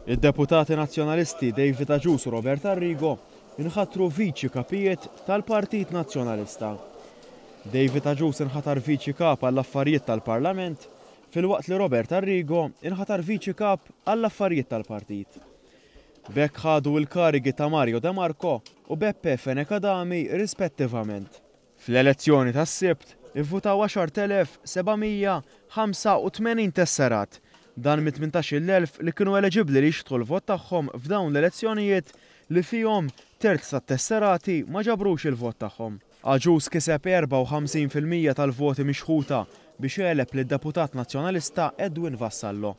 Id-deputati Nazzjonalisti David Agius u Robert Arrigo inħatru Viċi Kapijiet tal-Partit Nazzjonalista. David Agius inħatar Viċi Kap għall-Affarijiet tal-Parlament filwaqt li Robert Arrigo inħatar Viċi Kap għall-Affarijiet tal-Partit. B'hekk ħadu l-karigi ta' Mario De Marco u Beppe Fenech Adami rispettivament. Fl-elezzjoni tas-Sibt ivvutaw 10,785 tesserat, dan mit-18,000 li kienu eliġibbli li jixtħu l-vot tagħhom f'dawn l-elezzjonijiet li fihom terz tat-tesserati ma ġabrux il-vot tagħhom. Agius kiseb 54% tal-voti mixħuta biex għeleb lid-deputat Nazzjonalista Edwin Vassallo.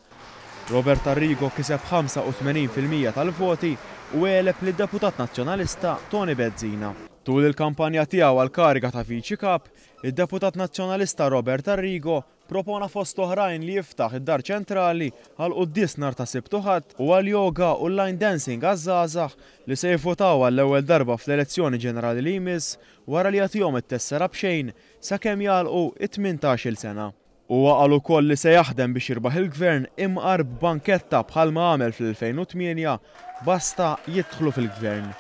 Robert Arrigo kiseb 85% tal-voti u għeleb lid-deputat Nazzjonalista Toni Bezzina. Tul il-kampanja tiegħu għall-kariga ta' Viċi Kap, id-deputat Nazzjonalista Robert Arrigo propona fost oħrajn li jiftaħ id-Dar Ċentrali għal quddies nhar ta' Sibt u Ħadd u għal yoga u line dancing għaż-żgħażagħ li se jivvotaw għall-ewwel darba fl-elezzjoni ġenerali li jmiss wara li jagħtihom it-tessera b'xejn sakemm jagħlqu it-18-il sena. Huwa qal ukoll li se jaħdem biex jirbaħ il-gvern imqar b'banketta bħalma għamel fl-2008 basta jidħlu fil-gvern.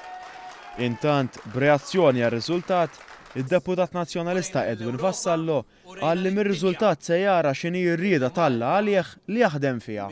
Intant, b'reazzjoni għar-riżultat, id-deputat Nazzjonalista Edwin Vassallo qal li mir-riżultat se jara x'inhi r-rieda t'Alla għalih li jaħdem fiha.